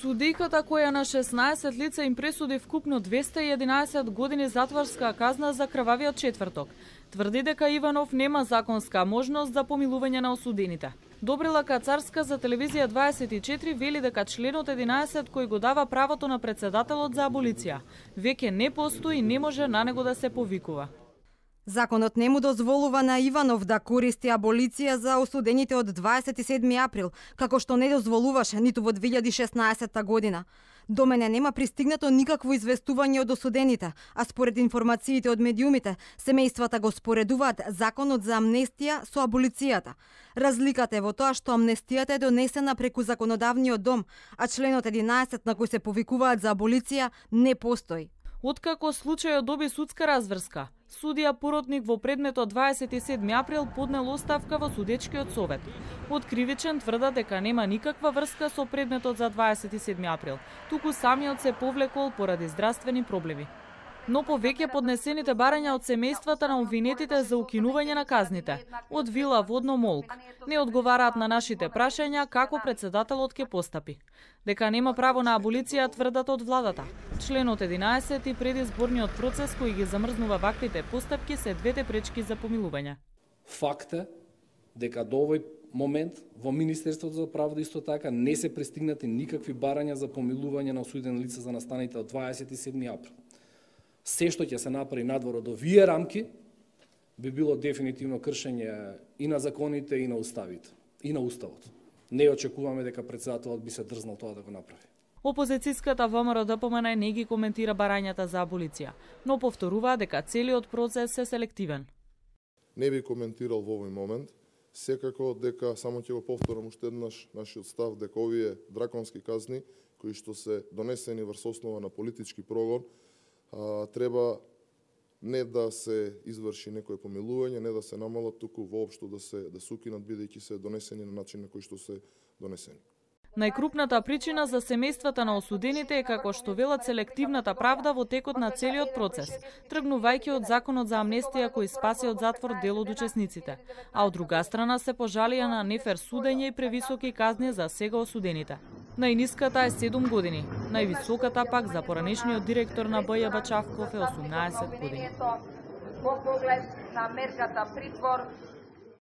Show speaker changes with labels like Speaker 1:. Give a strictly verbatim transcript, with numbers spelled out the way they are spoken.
Speaker 1: Судиката која на шеснаесет лица им пресуди вкупно двесте и единаесет години затворска казна за крвавиот четврток, тврди дека Иванов нема законска можност за помилување на осудените. Добрила Кацарска за телевизија дваесет и четири вели дека членот единаесет кој го дава правото на председателот за аболиција веќе не постои и не може на него да се повикува.
Speaker 2: Законот не му дозволува на Иванов да користи аболиција за осудените од дваесет и седми април, како што не дозволуваше ниту во две илјади и шеснаесетта година. До мене нема пристигнато никакво известување од осудените, а според информациите од медиумите, семејствата го споредуваат законот за амнестија со аболицијата. Разликата е во тоа што амнестијата е донесена преку законодавниот дом, а членот единаесет на кој се повикуваат за аболиција не постои.
Speaker 1: Откако случајот доби судска разврска, судија поротник во предметот дваесет и седми април поднел оставка во судечкиот совет. Од кривичен тврда дека нема никаква врска со предметот за дваесет и седми април, туку самиот се повлекол поради здравствени проблеми. Но повеќе поднесените барања од семејствата на обвинетите за укинување на казните од Вила Водно Молк не одговараат на нашите прашања како председателот ќе постапи. Дека нема право на аболиција тврдат од владата. Членот единаесет и предизборниот процес кој ги замрзнува ваквите постапки се двете пречки за помилување.
Speaker 3: Факт е дека до овој момент во Министерството за правда исто така не се пристигнати никакви барања за помилување на осудени лица за настаните од дваесет и седми април. Се што ќе се направи надвор од овие рамки би било дефинитивно кршење и на законите и на уставите, и на уставот. Не очекуваме дека председателот би се дрзнал тоа да го направи.
Speaker 1: Опозицијската ВМРО-ДПМН не ги коментира барањата за аболиција, но повторува дека целиот процес е селективен.
Speaker 4: Не би коментирал во овој момент, секако дека само ќе го повторам уште еднаш нашиот став дека овие драконски казни кои што се донесени врз основа на политички прогон а, треба не да се изврши некое помилување, не да се намалат, туку воопшто да се да се укинат бидејќи се донесени на начин на кој што се донесени.
Speaker 1: Најкрупната причина за семејствата на осудените е како што велат селективната правда во текот на целиот процес, тргнувајќи од законот за амнестија кој спаси од затвор дел од учесниците, а од друга страна се пожалија на нефер судење и превисоки казни за сега осудените. Најниската е седум години, највисоката пак за поранешниот директор на БЈ Бачавков е осумнаесет години.
Speaker 5: Во поглед на мерката притвор